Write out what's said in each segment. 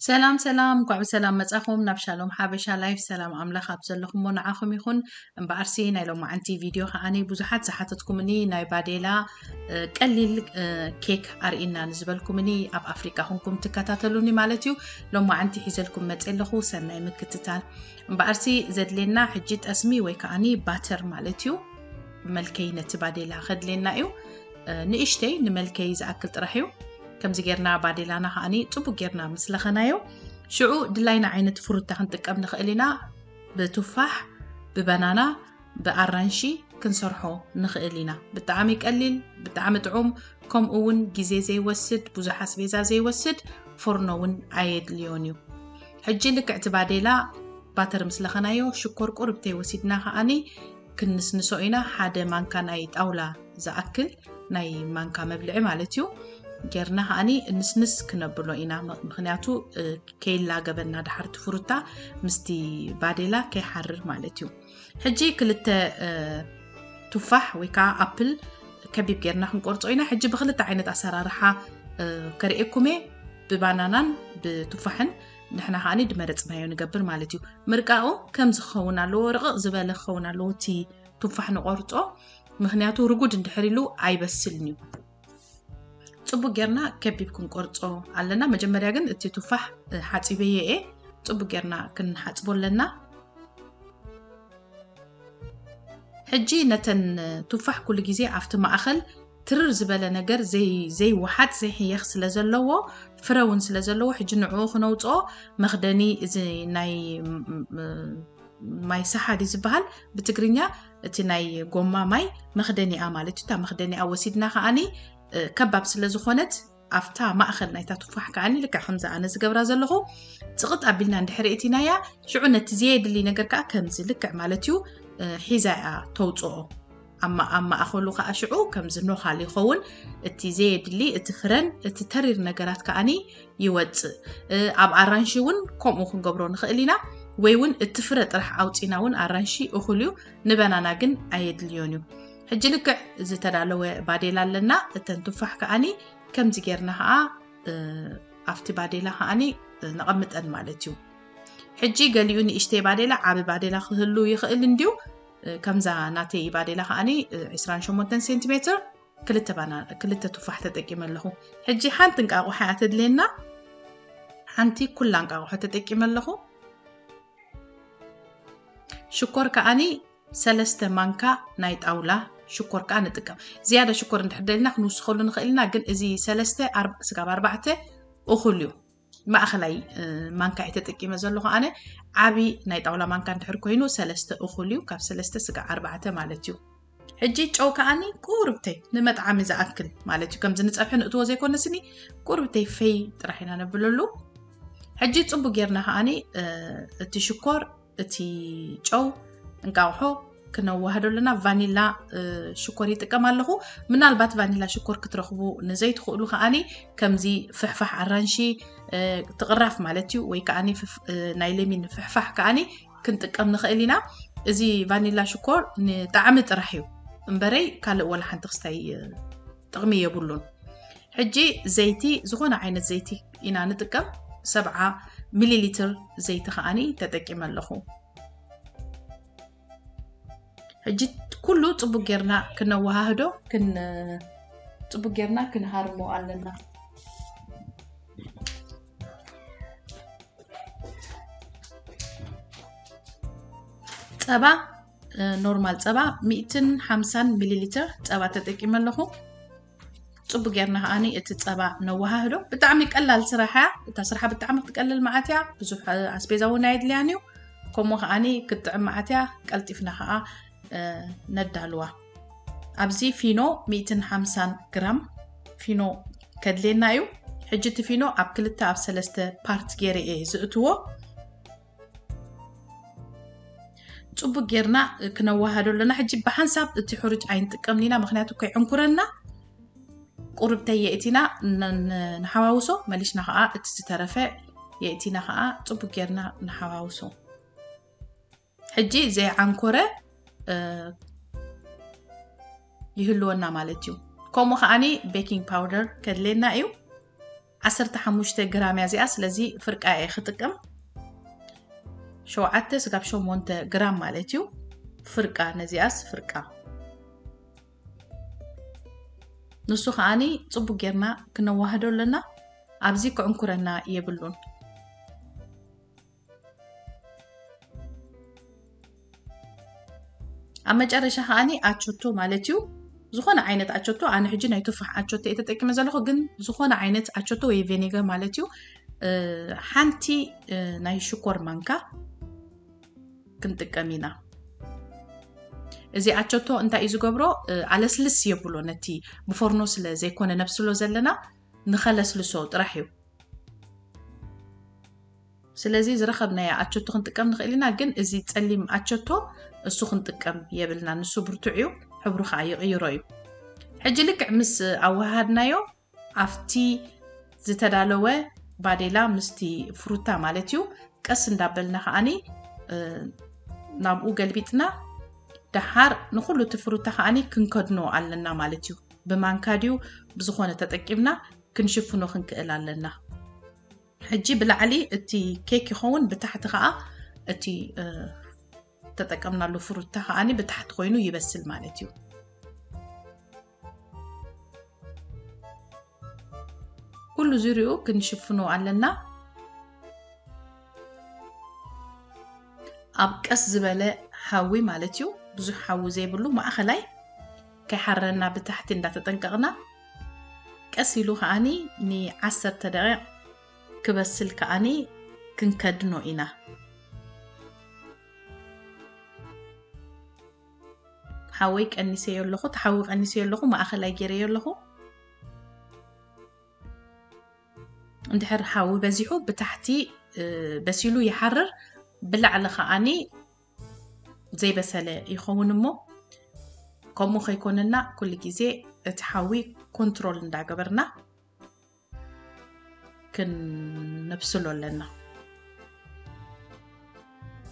ሰላም ሰላም፣ እንኳዕ ብሰላም መጻኹም ናብ ሻሎም ሓበሻ ላይፍ። ሰላም ኣምላኽ ኣብ ዘለኹሞ ንዓኹም ይኹን። እምበኣርሲ ናይ ሎማዓንቲ ቪድዮ ከዓኒ ብዙሓት ዝሓተትኩምኒ ናይ ባዴላ ቀሊል ኬክ ኣርእና ንዝበልኩምኒ፣ ኣብ ኣፍሪቃ ኩንኩም ትከታተሉኒ ማለት እዩ። ሎማዓንቲ ሒዘልኩም መጽ ኣለኹ። ሰናይ ምክትታል። እምበኣርሲ ዘድልየና ሕጂ ጠስሚ ወይ ከዓኒ ባተር ማለት እዩ። መልከይ ነቲ ባዴላ ከድልየና እዩ። ንእሽተይ ንመልከይ ዝኣክል ጥራሕ እዩ። ከምዚ ጌርና ባዴላና ከዓኒ ጽቡቅ ጌርና ምስ ለኸናዮ፣ ሽዑ ድላይና ዓይነት ፍሩታ ክንጥቀም ንኽእል ኢና። ብቱፋሕ፣ ብበናና፣ ብኣራንሺ ክንሰርሖ ንኽእል ኢና። ብጣዕሚ ቀሊል፣ ብጣዕሚ ጥዑም፣ ከምኡ እውን ግዜ ዘይወስድ፣ ብዙሕ ኣስቤዛ ዘይወስድ፣ ፎርኖ እውን ኣየድልዮን እዩ። ሕጂ ልክዕቲ ባዴላ ባተር ምስ ለኸናዮ ሽኮር ቁርብተይ ወሲድና ከዓኒ ክንስንሶ ኢና። ሓደ ማንካ ናይ ጣውላ ዝኣክል ናይ ማንካ መብልዒ ማለት እዩ። ጌርና ከዓኒ እንስንስ ክነብሎ ኢና። ምኽንያቱ ከይላገበና ድሓርቲ ፍሩታ ምስቲ ባዴላ ከይሓርር ማለት እዩ። ሕጂ ክልተ ቱፋሕ ወይ ከዓ ኣፕል ከቢብ ጌርና ክንቆርጾ ኢና። ሕጂ ብክልተ ዓይነት ኣሰራርሓ ከርእየኩምየ፣ ብባናናን ብቱፋሕን። ንሕና ከዓኒ ድመረጽናዮ ንገብር ማለት እዩ። ምርቃኡ ከም ዝኸውን ኣለዎ፣ ርቕቕ ዝበለ ክኸውን ኣለዎ እቲ ቱፋሕ ንቆርጾ። ምኽንያቱ ርጉድ እንድሕር ኢሉ ኣይበስልን እዩ። ጽቡቅ ጌርና ከቢብ ክንቆርጾ ኣለና። መጀመርያ ግን እቲ ቱፋሕ ሓጺበዮ እየ። ጽቡቅ ጌርና ክንሓጽቦ ኣለና። ሕጂ ነተን ቱፋሕ ኩሉ ግዜ ኣብቲ ማእኸል ትርር ዝበለ ነገር ዘይወሓጥ ዘይሕየኽ ስለ ዘለዎ፣ ፍረ እውን ስለ ዘለዎ፣ ሕጂ ንዕኡ ክነውፅኦ መኽደኒ እዚ ናይ ማይ ሰሓዲ ዝበሃል ብትግርኛ፣ እቲ ናይ ጎማ ማይ መኽደኒኣ ማለት እዩ። እታ መኽደኒኣ ወሲድና ከዓኒ ከባብ ስለ ዝኾነት ኣብታ ማእኸል ናይታ ቱፋሕ ከዓኒ ልክዕ ከምዚ ኣነ ዝገብራ ዘለኹ ፅቕጥ ኣቢልና እንድሕር እቲናያ፣ ሽዑ ነቲ ዘየድሊ ነገር ከዓ ከምዚ ልክዕ ማለት እዩ ሒዛ እያ ተውፅኦ። ኣብ ማእኸሉ ከዓ ሽዑ ከምዚ ኖኻል ይኸውን። እቲ ዘየድሊ፣ እቲ ፍረን እቲ ተሪር ነገራት ከዓኒ ይወፅእ። ኣብ ኣራንሺ እውን ከምኡ ክንገብሮ ንኽእል ኢና። ወይ እውን እቲ ፍረ ጥራሕ ኣውፂና እውን ኣራንሺ እኹል እዩ። ንበናና ግን ኣየድልዮን እዩ። ሕጂ ልክዕ ዝተዳለወ ባዴላ ኣለና። እተን ቱፋሕ ከዓኒ ከምዚ ጌርና ከዓ ኣብቲ ባዴላ ከዓኒ ነቐምጠን ማለት እዩ። ሕጂ ገሊኡ ንእሽተይ ባዴላ ዓቢ ባዴላ ክህሉ ይኽእል እንድዩ። ከምዛ ናተይ ባዴላ ከዓኒ ዕስራን ሸሞንተን ሴንቲሜትር ክልተ ቱፋሕ ተጠቂመ ኣለኹ። ሕጂ ሓንቲ እንቃቑሖ እያ ተድልየና። ሓንቲ ኩላ እንቃቑሖ ተጠቂመ ኣለኹ። ሽኮር ከዓኒ ሰለስተ ማንካ ናይ ጣውላ ሽኮር ከዓ ንጥቀም። ዝያዳ ሽኮር እንድሕር ደሊና ክንውስኸሉ ንኽእል ኢና፣ ግን እዚ ሰለስተ ስጋብ ኣርባዕተ እኹል እዩ። ማእኸላይ ማንካ እየ ተጠቂመ ዘለኹ ኣነ። ዓቢ ናይ ጣውላ ማንካ እንድሕር ኮይኑ ሰለስተ እኹል እዩ፣ ካብ ሰለስተ ስጋብ ኣርባዕተ ማለት እዩ። ሕጂ ጨው ከዓኒ ቁርብተይ ንመጥዓሚ ዝኣክል ማለት እዩ። ከምዚ ንፀብሒ ንእትዎ ዘይኮነስኒ ቁርብተይ ፈይ ጥራሕ ኢና ነብለሉ። ሕጂ ፅቡቅ ጌርና ከዓኒ እቲ ሽኮር፣ እቲ ጨው፣ እንቃቑሖ ክነዋህዶ ኣለና። ቫኒላ ሽኮር ይጥቀም ኣለኹ። ምናልባት ቫኒላ ሽኮር ክትረኽቡ ንዘይትኽእሉ ከዓኒ ከምዚ ፍሕፋሕ ኣራንሺ፣ ትቕራፍ ማለት እዩ፣ ወይ ከዓኒ ናይ ለሚን ፍሕፋሕ ከዓኒ ክንጥቀም ንኽእል ኢና። እዚ ቫኒላ ሽኮር ንጣዕሚ ጥራሕ እዩ እምበረይ ካልእ ወላ ሓንቲ ክስታይ ጥቕሚ የብሉን። ሕጂ ዘይቲ፣ ዝኾነ ዓይነት ዘይቲ ኢና ንጥቀም። ሰብዓ ሚሊ ሊትር ዘይቲ ከዓኒ ተጠቂመ ኣለኹ። ሕጂ ኩሉ ጽቡቅ ጌርና ክነወሃህዶ፣ ክን-፣ ጽቡቅ ጌርና ክንሃርሞ ኣለና። ጸባ፣ ኖርማል ጸባ ሚእትን ሓምሳን ሚሊ ሊትር ጸባ ተጠቂመ ኣለኹ። ጽቡቅ ጌርና ከዓኒ እቲ ጸባ ነወሃህዶ። ብጣዕሚ ቀላል ስራሕ እያ። እታ ስራሓ ብጣዕሚ ክትቀልል መዓት እያ። ብዙሕ ኣስቤዛ እውን ኣየድልያን እዩ። ከምኡ ከዓኒ ክትጥዕም መዓት እያ። ቀልጢፍና ከዓ ነዳልዋ። ኣብዚ ፊኖ ሚእትን ሓምሳን ግራም ፊኖ ከድልየና እዩ። ሕጂ እቲ ፊኖ ኣብ ክልተ ኣብ ሰለስተ ፓርት ገይረ እየ ዝእትዎ። ጽቡቅ ጌርና ክነወሃዶ ኣለና። ሕጂ ብሓንሳብ እቲ ሕሩጭ ኣይንጥቀምን ኢና፣ ምኽንያቱ ከይዕንኩረና። ቁርብተይ የእቲና ን-፣ ን-፣ ንሓዋውሶ፣ መሊሽና ከኣ እቲ ዝተረፈ የእቲና ከኣ ጽቡቅ ጌርና ንሓዋውሶ። ሕጂ ዘይዓንኮረ፣ እ፣ ይህልወና ማለት እዩ። ከምኡ ከኣኒ ቤኪንግ ፓውደር ከድልየና እዩ። ዓሰርተ ሓሙሽተ ግራም እያ እዚኣ። ስለዚ ፍርቃ እየ ክጥቀም። ሸውዓተ ስጋብ ሸሞንተ ግራም ማለት እዩ። ፍርቃ፣ ነዚኣስ ፍርቃ። ንሱ ከዓኒ ጽቡቅ ጌርና ክነዋህዶ ኣለና። ኣብዚ ክዕንኩረና የብሉን። ኣብ መጨረሻ ከዓኒ ኣቸቶ ማለት እዩ። ዝኾነ ዓይነት ኣቸቶ፣ ኣነ ሕጂ ናይ ቱፋሕ ኣቸቶ እየ ተጠቂመ ዘለኹ፣ ግን ዝኾነ ዓይነት ኣቸቶ ወይ ቬኔገር ማለት እዩ። እ፣ ሓንቲ፣ እ፣ ናይ ሽኮር ማንካ ክንጥቀም ኢና። እዚ ኣቸቶ እንታይ እዩ ዝገብሮ? እ፣ ኣለስልስ የብሎ፣ ነቲ ብፎርኖ ስለ ዘይኮነ ነብስሎ ዘለና፣ ንኸለስልሶ ጥራሕ እዩ። ስለዚ ዝረኸብናዮ ኣቸቶ ክንጥቀም ንኽእል ኢና፣ ግን እዚ ጸሊም ኣቸቶ እሱ ክንጥቀም የብልና። ንሱ ብርቱዕ እዩ፣ ሕብሩ ኸዓ ይቕይሮ እዩ። ሕጂ ልክዕ ምስ ኣወሃሃድናዮ ኣብቲ ዝተዳለወ ባዴላ ምስቲ ፍሩታ ማለት እዩ፣ ቀስ እንዳበልና ከዓኒ፣ እ፣ ናብኡ ገልቢጥና ደሓር ንኹሉ እቲ ፍሩታ ከዓኒ ክንከድኖ ኣለና ማለት እዩ። ብማንካ ድዩ ብዝኾነ ተጠቂምና ክንሽፍኖ ክንክእል ኣለና። ሕጂ ብላዕሊ እቲ ኬክ ይኸውን፣ ብታሕቲ ከኣ እቲ፣ እ፣ ተጠቀምናሉ ፍሩታ ከኣኒ ብታሕቲ ኮይኑ ይበስል ማለት እዩ። ኩሉ ዙሪኡ ክንሽፍኖ ኣለና። ኣብ ቀስ ዝበለ ሓዊ ማለት እዩ፣ ብዙሕ ሓዊ ዘይብሉ ማእኸላይ፣ ከይሓረና ብታሕቲ እንዳተጠንቀቕና፣ ቀስ ኢሉ ከኣኒ ንዓሰርተ ደቂቕ ክበስል ከኣኒ ክንከድኖ ኢና። ሓወይ ቀኒሰዮ ኣለኹ፣ እቲ ሓዊ ቀኒሰዮ ኣለኹ፣ ማእኸላይ ገይረዮ ኣለኹ። እንድሕር ሓዊ በዚሑ ብታሕቲ፣ እ፣ በሲሉ ይሓርር፣ ብላዕሊ ከኣኒ ዘይበሰለ ይኸውን እሞ፣ ከምኡ ከይኮነና ኩሉ ግዜ እቲ ሓዊ ኮንትሮል እንዳገበርና ክነብስሎ ኣለና።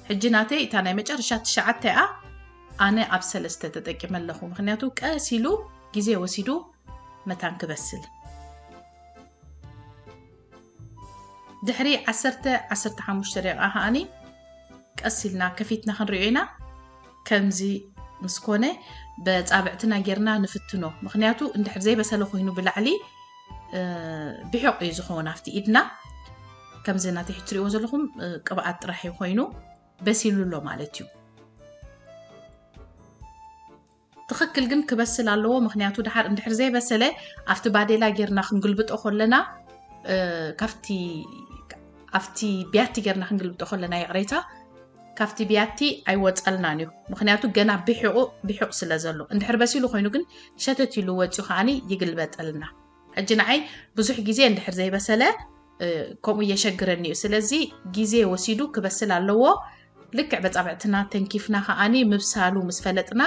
ሕጂ ናተይ እታ ናይ መጨረሻ ትሽዓተ እያ፣ ኣነ ኣብ ሰለስተ ተጠቂመ ኣለኹ፣ ምኽንያቱ ቀስ ኢሉ ግዜ ወሲዱ መታን ክበስል። ድሕሪ ዓሰርተ፣ ዓሰርተ ሓሙሽተ ደቂቃ ከኣኒ ቀስ ኢልና ከፊትና ክንሪኦ ኢና። ከምዚ ምስ ኮነ በጻብዕትና ጌርና ንፍትኖ። ምኽንያቱ እንድሕር ዘይበሰለ ኮይኑ ብላዕሊ፣ እ፣ ብሒቕ እዩ ዝኸውን ኣብቲ ኢድና። ከምዚ ናተይ ሕጂ ትሪእዎ ዘለኹም፣ እ፣ ቅብኣት ጥራሕ እዩ ኮይኑ በሲሉ ኣሎ ማለት እዩ። ትኽክል ግን ክበስል ኣለዎ። ምኽንያቱ ደሓር እንድሕር ዘይበሰለ ኣብቲ ባዴላ ጌርና ክንግልብጦ ከለና፣ እ፣ ካብቲ፣ ኣብቲ ቢያቲ ጌርና ክንግልብጦ ከለና፣ ይቕሬታ፣ ካብቲ ቢያቲ ኣይወጸልናን እዩ። ምኽንያቱ ገና ብሒቑ፣ ብሒቕ ስለ ዘሎ። እንድሕር በሲሉ ኮይኑ ግን ሸተት ኢሉ ወጺኡ ከዓኒ ይግልበጠልና። ሕጂ ንዓይ ብዙሕ ግዜ እንድሕር ዘይበሰለ፣ እ፣ ከምኡ የሸግረኒ እዩ። ስለዚ ግዜ ወሲዱ ክበስል ኣለዎ። ልክዕ በጻብዕትና ተንኪፍና ከኣኒ ምብሳሉ ምስ ፈለጥና፣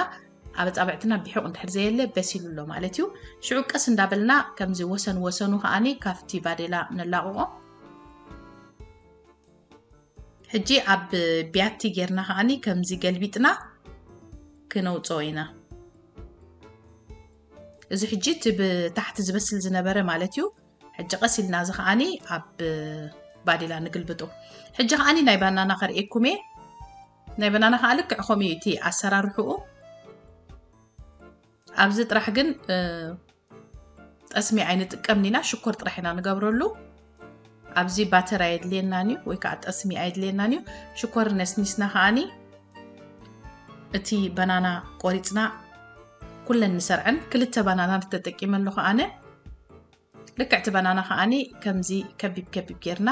ኣብ ኣጻብዕትና ብሒቕ እንድሕር ዘየለ በሲሉ ኣሎ ማለት እዩ። ሽዑ ቀስ እንዳበልና ከምዚ ወሰን ወሰኑ ከኣኒ ካብቲ ባዴላ ነላቕቖ። ሕጂ ኣብ ቢያቲ ጌርና ከኣኒ ከምዚ ገልቢጥና ክነውጽኦ ኢና። እዚ ሕጂ እቲ ብታሕቲ ዝበስል ዝነበረ ማለት እዩ። ሕጂ ቀስ ኢልና እዚ ከኣኒ ኣብ ባዴላ ንግልብጦ። ሕጂ ከኣኒ ናይ ባናና ከርእየኩም እየ። ናይ ባናና ከኣ ልክዕ ከምኡ እዩ እቲ ኣሰራርሕኡ። ኣብዚ ጥራሕ ግን፣ እ፣ ጠስሚ ኣይንጥቀምን ኢና፣ ሽኮር ጥራሕ ኢና ንገብረሉ። ኣብዚ ባተር ኣየድልየናን እዩ፣ ወይ ከዓ ጠስሚ ኣየድልየናን እዩ። ሽኮር ነስኒስና ከኣኒ እቲ ባናና ቆሪጽና ኩለን ንሰርዐን። ክልተ ባናና ተጠቂመ ኣለኹ ኣነ። ልክዕ እቲ ባናና ከኣኒ ከምዚ ከቢብ ከቢብ ጌርና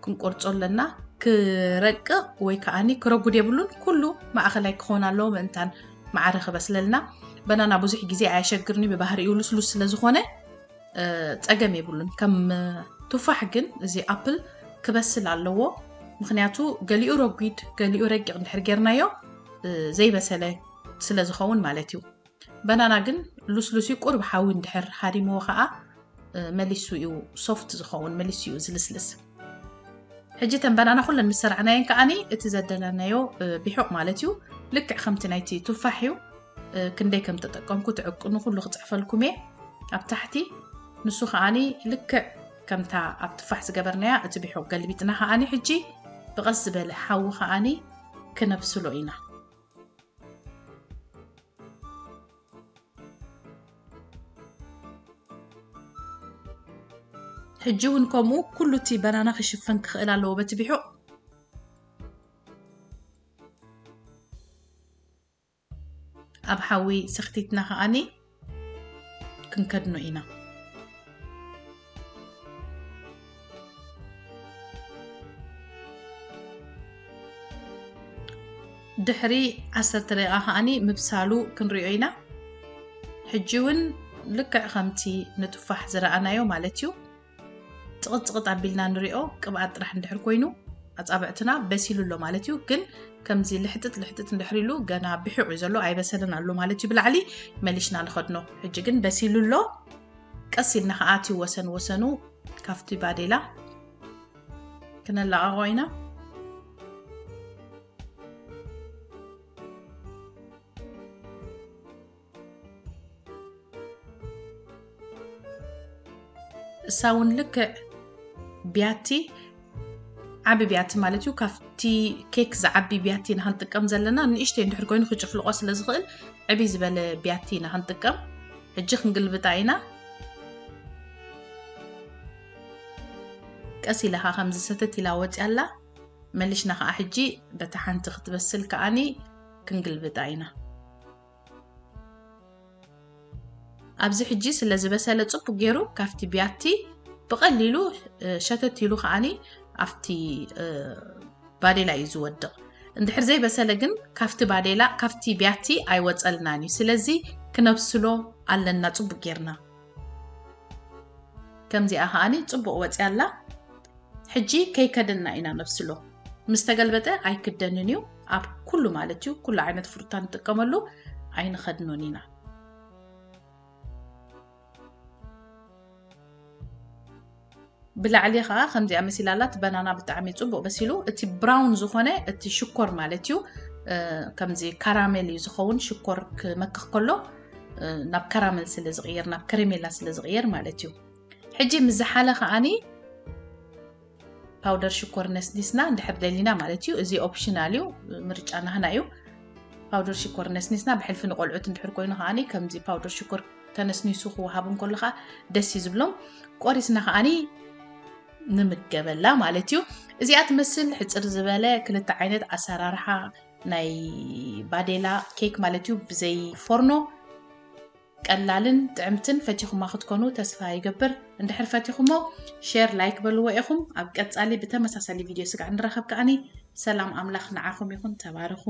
ክንቆርጾ ኣለና። ክረቅቕ ወይ ከኣኒ ክረጉድ የብሉን። ኩሉ ማእኸላይ ክኾን ኣለዎ፣ ምእንታን ማዕረ ክበስለልና። ባናና ብዙሕ ግዜ ኣየሸግርኒ፣ ብባህሪኡ ልስሉስ ስለ ዝኾነ፣ እ፣ ጸገም የብሉን። ከም ቱፋሕ ግን እዚ ኣፕል ክበስል ኣለዎ። ምኽንያቱ ገሊኡ ረጒድ፣ ገሊኡ ረቂቕ እንድሕር ጌርናዮ፣ እ፣ ዘይበሰለ ስለ ዝኸውን ማለት እዩ። ባናና ግን ልስሉስ እዩ፣ ቁሩብ ሓዊ እንድሕር ሃሪምዎ ኸኣ፣ እ፣ መሊሱ እዩ ሶፍት ዝኸውን፣ መሊሱ እዩ ዝልስልስ። ሕጂ እተን ባናና ኩለን ምስ ሰርዕናየን ከኣኒ እቲ ዘደለናዮ፣ እ፣ ቢሑቕ ማለት እዩ፣ ልክዕ ከምቲ ናይቲ ቱፋሕ እዩ። እ፣ ክንደይ ከም ተጠቀምኩ ትዕቅኑ ኩሉ ክጽሕፈልኩም እየ ኣብ ታሕቲ። ንሱ ከኣኒ ልክዕ ከምታ ኣብ ትፋሕ ዝገበርናያ እቲ ቢሑ ገልቢጥና ከኣኒ ሕጂ ብቐስ ዝበለ ሓዊ ከኣኒ ክነብስሎ ኢና። ሕጂ እውን ከምኡ ኩሉ እቲ በናና ክሽፈን ክኽእል ኣለዎ በቲ ቢሑ። ኣብ ሓዊ ሰኽቲትና ከኣኒ ክንከድኖ ኢና። ድሕሪ ዓሰርተ ደቂቃ ከኣኒ ምብሳሉ ክንሪኦ ኢና። ሕጂ እውን ልክዕ ከምቲ ንጡፋሕ ዝረኣናዮ ማለት እዩ። ጽቕጽቕጥ ኣቢልና ንሪኦ። ቅብኣት ጥራሕ እንድሕር ኮይኑ ኣጻብዕትና በሲሉ ኣሎ ማለት እዩ። ግን ከምዚ ልሕጥጥ ልሕጥጥ እንድሕር ኢሉ ገና ብሒቑ እዩ ዘሎ፣ ኣይበሰለን ኣሎ ማለት እዩ። ብላዕሊ መሊሽና ንኸድኖ። ሕጂ ግን በሲሉ ኣሎ። ቀስ ኢልና ከኣ እቲ ወሰን ወሰኑ ካብቲ ባዴላ ክነላቐቖ ኢና። እሳ እውን ልክዕ ቢያቲ፣ ዓቢ ቢያቲ ማለት እዩ። ካብቲ ኬክ ዝዓቢ ቢያቲ ኢና ክንጥቀም ዘለና። ንእሽተይ እንድሕር ኮይኑ ክጭፍልቆ ስለ ዝኽእል ዕብይ ዝበለ ቢያቲ ኢና ክንጥቀም። ሕጂ ክንግልብጣ ኢና። ቀስ ኢላ ኸዓ ከምዚ ሰተት ኢላ ወፂኣ ኣላ። መሊሽና ኸዓ ሕጂ በታ ሓንቲ ክትበስል ከዓኒ ክንግልብጣ ኢና። ኣብዚ ሕጂ ስለ ዝበሰለ ጽቡቅ ገይሩ ካብቲ ቢያቲ ብቐሊሉ፣ እ፣ ሸተት ኢሉ ከዓኒ ኣብቲ፣ እ፣ ባዴላ እዩ ዝወድቕ። እንድሕር ዘይበሰለ ግን ካብቲ ባዴላ፣ ካብቲ ቢያቲ ኣይወጸልናን እዩ። ስለዚ ክነብስሎ ኣለና ጽቡቅ ጌርና። ከምዚኣ ከዓኒ ጽቡቅ ወጽያ ኣላ። ሕጂ ከይከደና ኢና ነብስሎ። ምስ ተገልበጠ ኣይክደንን እዩ። ኣብ ኩሉ ማለት እዩ፣ ኩሉ ዓይነት ፍሩታ ንጥቀመሉ ኣይንኸድኖን ኢና። ብላዕሊ ኸዓ ከምዚኣ መሲላ ኣላ። እቲ በናና ብጣዕሚ ጽቡቅ በሲሉ። እቲ ብራውን ዝኾነ እቲ ሽኮር ማለት እዩ፣ እ፣ ከምዚ ካራሜል እዩ ዝኸውን። ሽኮር ክመክኽ ከሎ፣ እ፣ ናብ ካራሜል ስለ ዝቕየር፣ ናብ ከረሜላ ስለ ዝቕየር ማለት እዩ። ሕጂ ምስ ዝሓለ ከዓኒ ፓውደር ሽኮር ነስኒስና እንድሕር ደሊና ማለት እዩ። እዚ ኦፕሽናል እዩ፣ ምርጫ ናህና እዩ። ፓውደር ሽኮር ነስኒስና ብሕልፊ ንቆልዑት እንድሕር ኮይኑ ከዓኒ ከምዚ ፓውደር ሽኮር ተነስኒሱ ክወሃብ እንከሎ ከዓ ደስ እዩ ዝብሎም። ቆሪስና ከዓኒ ንምገበላ ማለት እዩ። እዚኣ ትመስል ሕፅር ዝበለ ክልተ ዓይነት ኣሰራርሓ ናይ ባዴላ ኬክ ማለት እዩ፣ ብዘይ ፎርኖ። ቀላልን ጥዕምትን ፈቲኹማ ክትኮኑ ተስፋ ይገብር። እንድሕር ፈቲኹሞ ሼር፣ ላይክ በልዎ ኢኹም። ኣብ ቀጻሊ ብተመሳሳሊ ቪድዮ ስጋዕ ንራኸብ ከዓኒ። ሰላም ኣምላኽ ንዓኹም ይኹን። ተባረኹ።